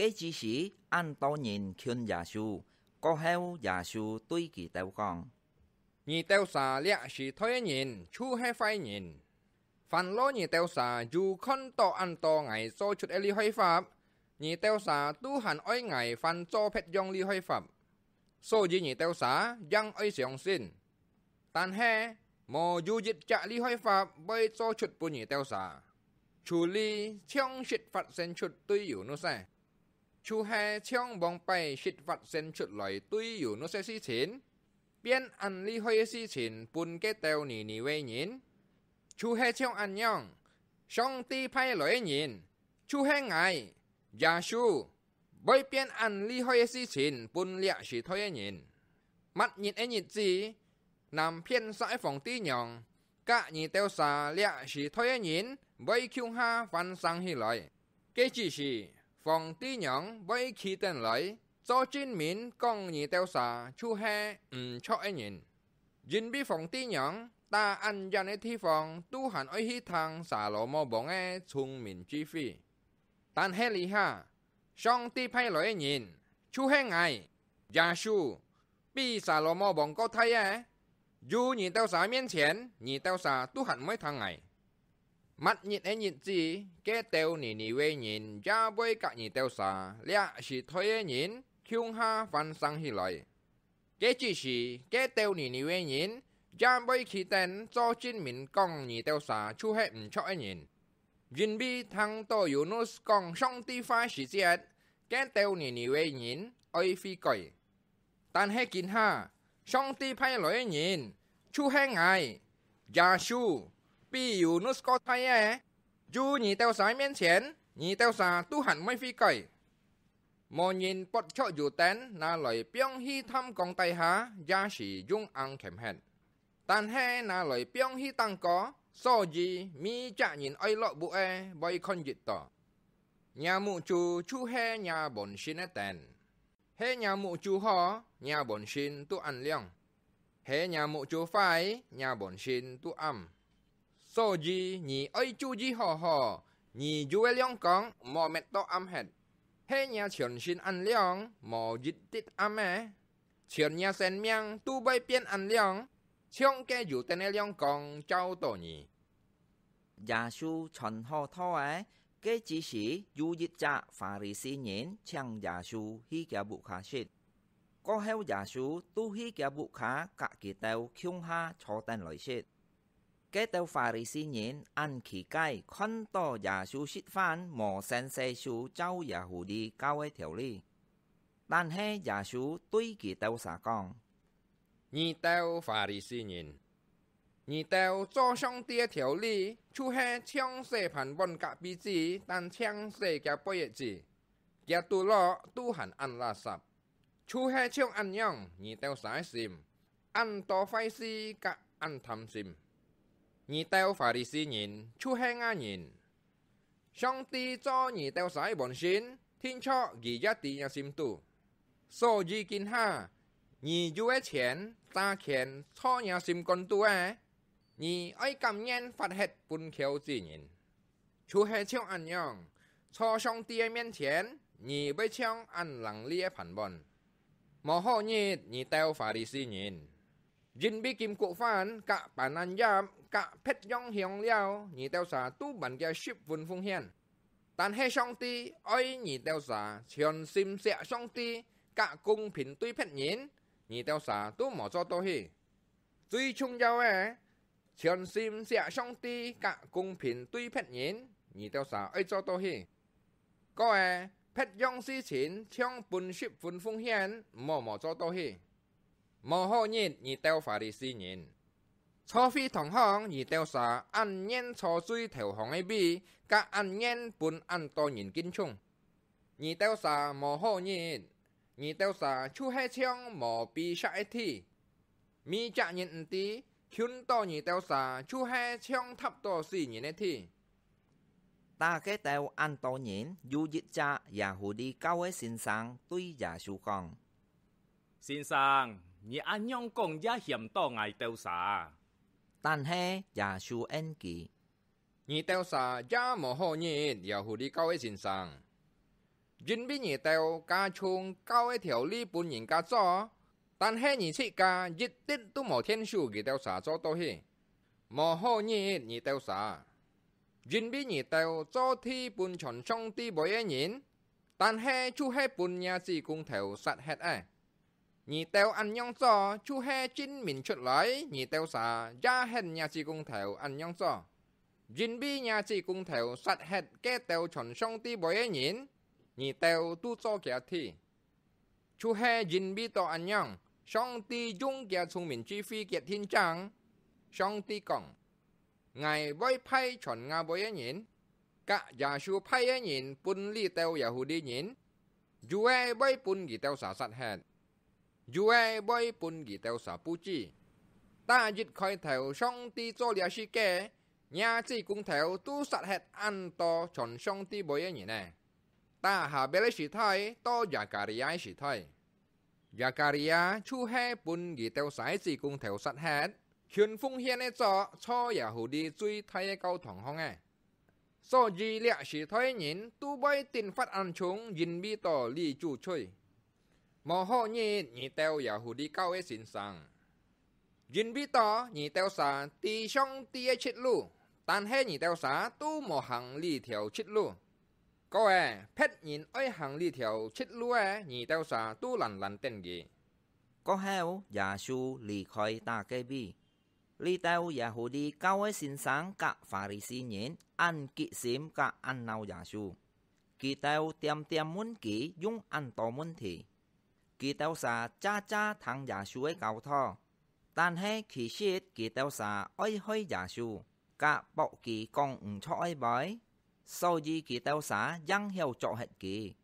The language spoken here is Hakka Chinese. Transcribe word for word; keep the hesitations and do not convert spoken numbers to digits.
該之時，恁多人近耶穌。過後，耶穌對佢兜講：「你兜儕這時代个人，就係壞人！凡落你兜儕有看著恁多𠊎做出个厲害法，你兜儕都還愛𠊎還做別樣厲害法。所以你兜儕應愛相信！但係，無有一隻厲害法會做出分你兜儕，除了像食法先出對Yunus个，就係像往擺食法先出來對Yunus个事情，變恁厲害个事情分該兜尼尼微人，就係像恁樣，上帝派來个人，就係𠊎，耶穌，會變恁厲害个事情分這時代个人。末日个日子，南片煞个皇帝娘，佮你兜儕這時代个人會共下翻生起來。該之時，皇帝娘會企等來，做證明講你兜儕就係毋著个人。因為皇帝娘打恁遠个地方都還愛去聽撒羅摩王个聰明智慧。但係這下，上帝派來个人，就係𠊎，耶穌，比撒羅摩王過大个！有你兜儕面前，你兜儕都還毋會聽𠊎！」末日个日子，該兜尼尼微人也會佮你兜儕這時代个人共下翻生起來。該之時，該兜尼尼微人也會企等做證明講你兜儕就係毋著个人。因為聽著Yunus講上帝話時節，該兜尼尼微人愛悔改。但係今下，上帝派來个人，就係𠊎，耶穌，比Yunus過大个！有你兜儕面前，你兜儕都還毋會悔改！無人剝卻油燈拿來放去探缸底下，也係用罌掔核，但係拿來放去頂高，所以每隻人愛落屋个會看得著。若目珠就係若門身个燈。係若目珠好，若門身都恁亮；係若目珠壞，若門身都暗。所以你愛注意好好，你有个亮光莫搣到暗核。係若全身恁亮，無一滴暗个，全若生命都會變恁亮，像該油燈个亮光照著你。」耶穌傳好道仔，該之時有一隻法利賽人請耶穌去厥屋下食。過後耶穌就去厥屋下佮佢兜共下坐等來食。該兜法利賽人恁奇怪，看著耶穌食飯無先洗手照耶穌裡教个條理。但係耶穌對佢兜儕講：「你兜法利賽人，你兜做上帝个條理，就係淨洗盤碗隔壁子，但淨洗厥背仔子，厥肚落都還恁垃圾！」就係像恁樣，你兜儕个心，恁多壞事佮恁貪心！你兜法利賽人，就係𠊎人！上帝做你兜儕个門身，定著佢也知若心肚。所以今下，你有个錢、揸權坐若心肝肚个，你愛甘願發忒分撟子人！就係像恁樣，坐上帝个面前，你會像恁伶俐个盤碗！無好日，你兜法利賽人！因為金菊花佮橄欖葉佮別樣香料，你兜儕都還厥十分奉獻。但係上帝愛你兜儕全心惜上帝佮公平對別人，你兜儕都無做到去。最重要个，全心惜上帝佮公平對別人，你兜儕愛做到去。過仔，別樣事情像分十分奉獻，毋好無做到去。無好日，你兜法利賽人！坐會堂項，你兜儕恁願坐最頭項个位，佮恁願分恁多人敬重。你兜儕無好日！你兜儕就係像無被石个地，每隻人毋知，近到你兜儕就係像踏著死人个地。打該兜恁多人，有一隻耶穌裡教个先生對耶穌講：「先生，你恁樣講也險到𠊎兜儕！」但係耶穌應佢：「你兜儕也無好日！」耶穌裡教个先生，因為你兜加重交个條例分人家做，但係你自家一滴都無𢯭手佢兜儕做到去。無好日你兜儕，因為你兜做事分全上帝會个人，但係就係分若子公頭殺忒个。你兜恁樣做，就係證明出來你兜儕也係若子公頭恁樣做。因為若子公頭殺忒該兜全上帝會个人，你兜都做厥事。就係因為到恁樣，上帝用厥聰明智慧決定正。上帝講：“𠊎會派傳𠊎會个人，甲耶穌派个人分這兜耶戶利人，有个會分佢兜儕殺忒，有个會分佢兜儕布置。」打一開頭上帝做這世界，若子公頭都殺忒恁多傳上帝會个人呢。打哈別个時代到Zakaria个時代，Zakaria就係分佢兜儕子公頭殺忒，群奉獻个做錯耶戶利最大个教堂項个。所以這時代人都會頂發恁重，因為到這主罪。無好日你兜耶戶利教个先生，因為到你兜儕知上帝个出路，但係你兜儕都無行這條出路。過仔，別人愛行這條出路个，你兜儕都懶懶等佢。過後，耶穌離開打該位，這兜耶戶利教个先生甲法利賽人恁激心甲恁惱耶穌，佢兜點點問佢用恁多問題。佢兜儕隻隻聽耶穌个教導，但係其實佢兜儕愛害耶穌，甲駁佢講毋著个話，所以佢兜儕應曉捉核佢。